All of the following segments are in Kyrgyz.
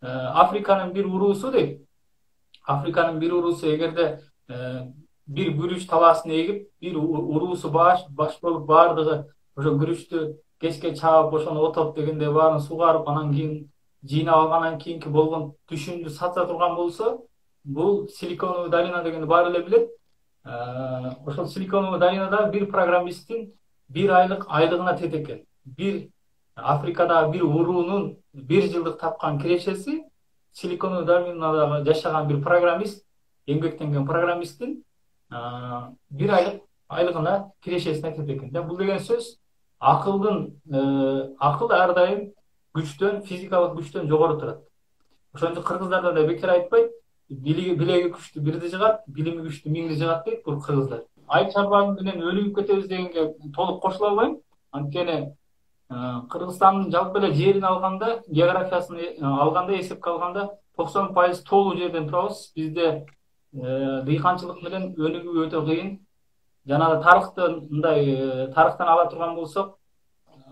Африканын бир уруусу дейт. Африканын бир уруусу эгерде бир күрүч талаасын эгип, бир уруусу баш болуп баардыгы ошо күрүчтү кечке чаап, ошону отоп дегенде баарын сугарып, анан кийин жыйнап алгандан кийинки болгон түшүмдү сатса турган болсо, бул Силиконовый долина дегенди баары эле билет. Ошол Силиконовый долинада бир программисттин бир айлык айлыгына тет экен. Бир Африкадагы бир уруунун бир жылдык тапкан кирешеси Силиконовый долинадагы жашаган бир программист, эмгектенген программисттин бир айлык айлыгына кирешесине тет экен. Бул деген сөз акыл ар дайым күчтөн, физикалык күчтөн жогору турат. Ошон үчүн кыргыздарда да бекер айтпайт, билеги күчтүү бирди жыгат, билими күчтүү миңди жыгат дейт бул кыргыздар. Айыл чарбаны менен өлүгүп кетебиз дегенге толук кошула албайм. Анткени Кыргызстандын жалпы эле жерин алганда, географиясын алганда, эсепке алганда 90% толуу жерден турабыз. Бизде дыйканчылык менен өнүгүү өтө кыйын. Жана тарыхтан ала турган болсок,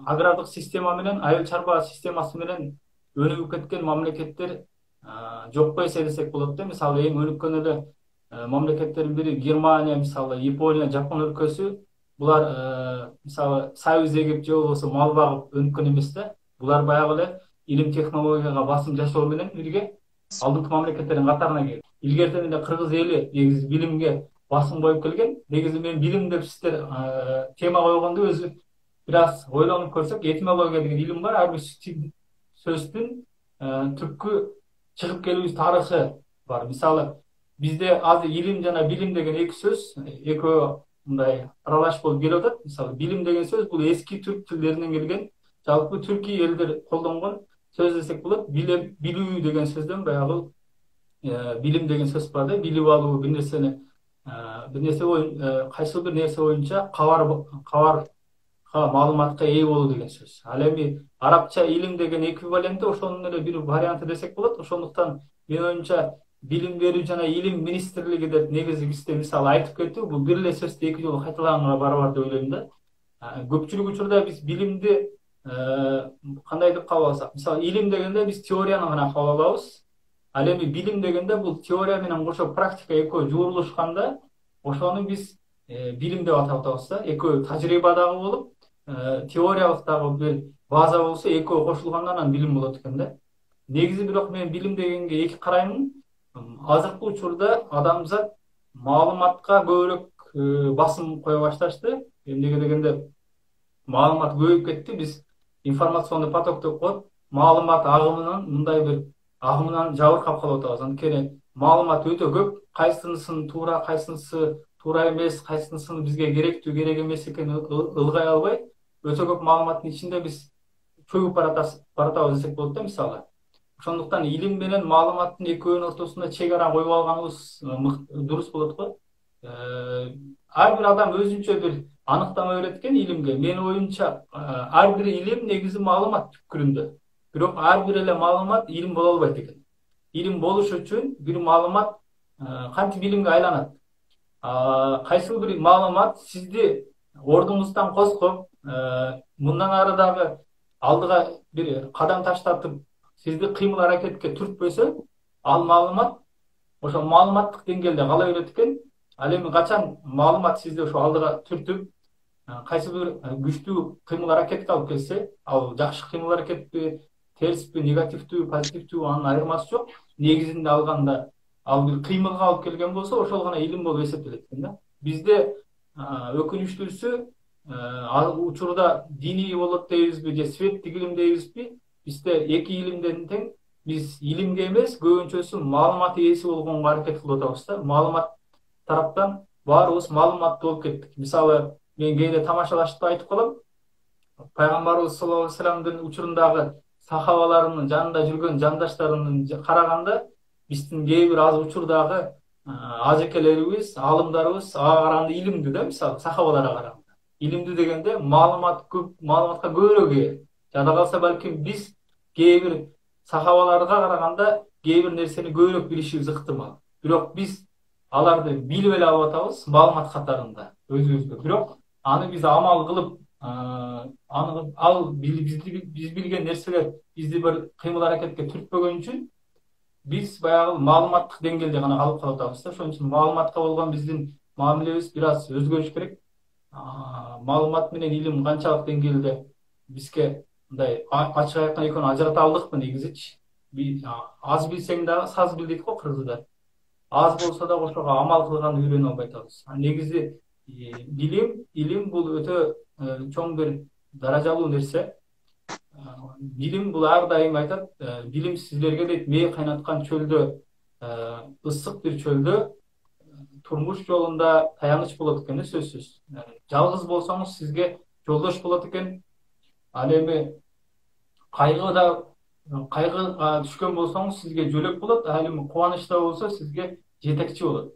агрардык система менен, айыл чарба системасы менен өнүгүп кеткен мамлекеттер жокко эсе десек болот да. Мисалы эң өнүккөн эле мамлекеттердин бири Германия, мисалы Япония, Жапон өлкөсү. Булар мисалы сайыз эгип же болбосо мал багып өнүккөн эмес да. Булар баягы эле илим технологияга басым жасоо менен бирге алдыңкы мамлекеттердин катарына кирген. Илгертен эле кыргыз эли негизи билимге басым коюп келген. Негизи мен билим деп сиздер тема койгондо өзү бир аз ойлонуп көрсөк, этимология деген илим бар. Ар бир сөздүн түпкү чыгып келүү тарыхы бар. Мисалы бизде азыр илим жана билим деген эки сөз, экөө мындай аралаш болуп келип атат. Мисалы билим деген сөз бул эски түрк тилдеринен келген, жалпы түркий элдер колдонгон сөз десек болот. Билүү деген сөздөн баягы билим деген сөз бар да. Билип алуу, бир нерсе кайсы бир нерсе боюнча кабарга, маалыматка ээ болуу деген сөз. Ал эми арабча илим деген эквиваленти, ошонун эле бир варианты десек болот. Ошондуктан менин оюмча билим берүү жана илим министрлиги деп негизи бизде мисалы айтып кетүү, бул бир эле сөздү эки жолу кайталаганга барабар деп ойлойм да. Көпчүлүк учурда биз билимди кандай деп кабыл алсак, мисалы илим дегенде биз теорияны гана кабыл алабыз. Ал эми билим дегенде бул теория менен кошо практика экөө жуурулушканда, ошону биз билим деп атап атабыз да. Экөө тажрыйба дагы болуп, теориялык дагы бир база болсо, экөө кошулганда анан билим болот экен да. Негизи бирок мен билим дегенге эки караймын. Азыркы учурда адамзат маалыматка көбүрөөк басым кое башташты. Эмнеге дегенде маалымат көбөйүп кетти. Биз информационный поток деп коет. Маалымат агымынан мындай бир агымынан жабыркап калып атабыз. Анткени маалымат өтө көп. Кайсынысын туура, кайсынысы туура эмес, кайсынысын бизге керектүү, керек эмес экенин ылгай албай, өтө көп маалыматтын ичинде биз чөгүп баратабыз десек болот да, мисалы. Ошондуктан илим менен маалыматтын экөөнүн ортосунда чек ара коюп алганыбыз дурус болот го. Ар бир адам өзүнчө бир аныктама берет экен илимге. Менин оюмча, ар бир илим негизи маалымат түпкүрүндө. Бирок ар бир эле маалымат илим боло албайт экен. Илим болуш үчүн бир маалымат кантип илимге айланат? Кайсы бир маалымат сизди ордуңуздан коскоп, мындан ары дагы алдыга бир кадам таштатып, сизди кыймыл аракетке түртпөсө, ал маалымат ошо маалыматтык деңгээлде кала берет экен. Ал эми качан маалымат сизди ошо алдыга түртүп, кайсы бир күчтүү кыймыл аракетке алып келсе, ал жакшы кыймыл аракетпи, терспи, негативдүү, позитивдүү, анын айырмасы жок. Негизинде алганда ал бир кыймылга алып келген болсо, ошол гана илим болуп эсептелет экен да. Бизде өкүнүчтүүсү учурда диний болот дейбизби же светтик илим дейбизби, бизде эки илимден тең биз илимге эмес, көбүнчөсү маалымат ээси болгонго аракет кылып атабыз да. Маалымат тараптан баарыбыз маалыматтуу болуп кеттик. Мисалы, мен кээде тамашалашып айтып калам. Пайгамбарыбыз саллаллаху алейхи вассаламдын учурундагы сахабаларынын жанында жүргөн жандаштарынын караганда, биздин кээ бир аз учурдагы ажекелерибиз, аалымдарыбыз ага караганда илимдүү да, мисалы, сахабаларга караганда. Илимдүү дегенде маалыматка көбүрөөк ээ. Жада калса балким биз кээ бир сахабаларга караганда кээ бир нерсени көбүрөөк билишибиз ыктымал. Бирок биз аларды билип эле алып атабыз маалымат катарында өзүбүзгө. Бирок аны биз амал кылып, биз билген нерселер бизди бир кыймыл аракетке түртпөгөн үчүн биз баягы маалыматтык деңгээлде гана калып калатабыз да. Ошон үчүн маалыматка болгон биздин мамилебиз бир аз өзгөрүш керек. Маалымат менен илим канчалык деңгээлде бизге мындай ачык айткан экөөнү ажырата алдыкпы негизичи? Аз билсең дагы саз бил дейт го кыргыздар. Аз болсо дагы ошого амал кылган үйрөнүп албай атабыз. Негизи илим бул өтө чоң бир даражалуу нерсе. Билим бул ар дайым айтат, билим сиздерге дейт мээ кайнаткан чөлдө, ысык бир чөлдө турмуш жолунда таяныч болот экен, сөзсүз. Жалгыз болсоңуз сизге жолдош болот экен. Ал эми кайгыда кайгыга түшкөн болсоңуз сизге жөлөк болот, ал эми кубанычта болсо сизге жетекчи болот.